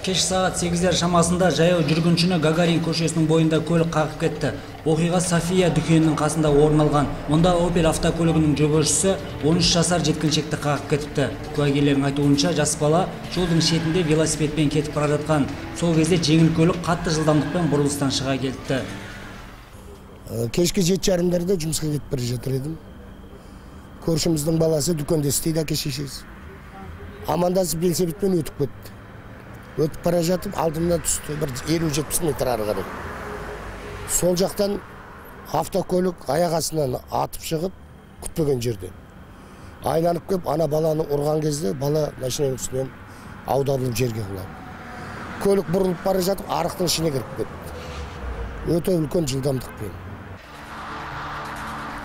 Кеш саат 8 шамасында жаяу жүргүнчүнү Гагарин көчөсүнүн боюнда көлүк кагып кетти. Окуйга София дүкөнүнүн касында орун алган. Онда Opel автокөлүгүнүн жөгөөчүсү 13 жашар жеткинчекти кагып кетипти. Куагерлердин айтуунча, жас бала жолдун четинде велосипедден кетип бара жаткан. Сол кезде жеңил көлүк катты жылдамдыкта бурулустан чыга келди. Кешки 7:30 жумушка кетип бара жатыр едим. Көршүмүздүн баласы дүкөндө иштейт, акешешиз. Амандасып велосипед менен өтүп кетти. Өтүп бара жатып, алдымда түстү, bir 50-70 метр ары карай. Сол жактан автокөлүк аяк астынан атып чыгып, күтпөгөн жерде. Айланып келип, ана баланы урган кезде бала машинанын үстүнөн аудалып жерге кулап. Көлүк бурулуп бара жатып, арыктын ичине кирип кетти. Өтө үлкөн жылдамдыкпен.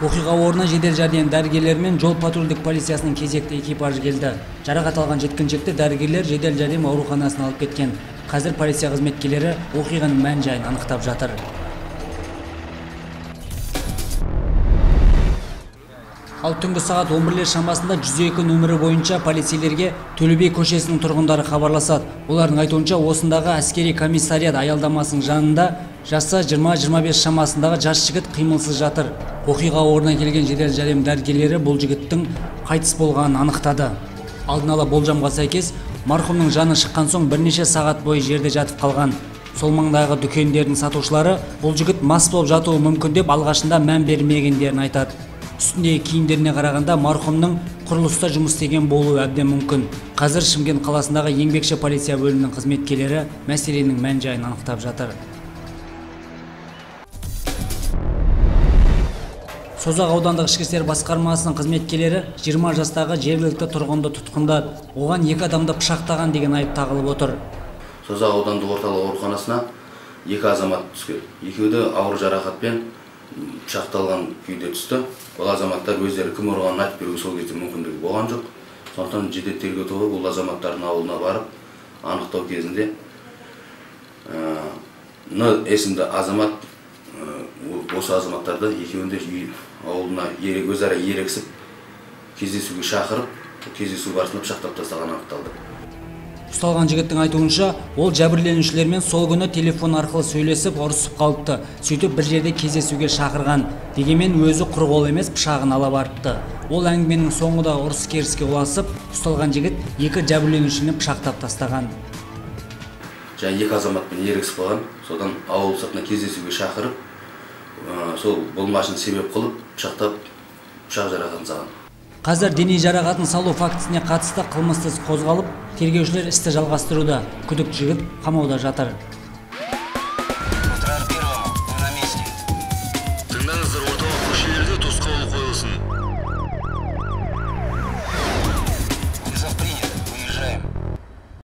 Окуйга ордуна жедел жардам дарыгерлери менен жол патрулдук полициясынын кезекти экипажы келди. Жаракат алган жеткинчекти дарыгерлер жедел жардам ооруканасына алып кеткен. Азыр полиция кызметкерлери окуйганын мән жайын аныктап жатыр. Ал түнгү саат 11 шамасында 102 нөмүрү боюнча полицейлерге Төлө би көчөсүнүн тургундары кабарлашат. Олардын айтуунча, осундагы аскерий комиссарият аялдамасынын жанында жасы 20-25 шамасындагы жаш жигит кыймылсыз жатыр. Окуйга ордуна келген жедел жардам дарыгерлери бул жигиттин кайтыс болгонун аныктады. Алдын ала болжомго сайкес, мархумдун жаны чыккан соң бир нече саат бою жерде жатып калган. Сол маңдагы дүкөндөрдүн сатуучулары бул жигит мас болуп жатуу мүмкүн деп алгачында мән бермегендерин айтат. Үстүндөгү кийимдерине караганда мархумдун курулуста жумуш истеген болуу абдан мүмкүн. Азыр Шымкент каласындагы Еңбекчи полиция бөлүмүнүн кызметкерлери маселенин мән жайын аныктап жатыр. Созак аудандык ички иштер баскармасынын кызметкерлери 20 жастагы жергиликтүү тургунду туткундап, оган 2 адамды пышактаган деген айып тагылып отур. Созак аудандык орталык ооруканасына 2 азамат түшкөн. Экөө да ауыр жаракатпен пышакталган күйдө түстү. Бул азаматтар өздөрү ким урганын айтып берүүгө сол кезде мүмкүндүгү болгон жок. Сондуктан жедел тергөө тобу бул азаматтардын абылына барып, аныктоо кезинде эсимде азамат осы азаматтарды экөөндө ауылына өз ара ерексип кездесүүгө чакырып, кездесүү барысында пышактап тастаганы аныкталды. Ушталган жигиттин айтуунча, ол жабирленүүчүлөр менен сол күнү телефон аркылуу сүйлөшүп, урушуп калыпты. Сөйтүп бир жерде кездесүүгө чакырган. Дегенмен өзү кургол эмес, пышагын ала барыпты. Ол аңгименин соңунда урус кериске уласып, ушталган жигит 2 жабирленүүчүнү пышактап тастаган. Жана 2 азамат менен ерексип калган. Содан ауыл сыртына кездесүүгө чакырып, сол болмашын себеп кылып, пышактап, пышак жаракатын салган. Азыр дене жаракатын салуу фактисине катысты кылмыш іс козголуп, тергөөчүлөр исти жалгастырууда. Күдүктүү жигит камауда жатыр.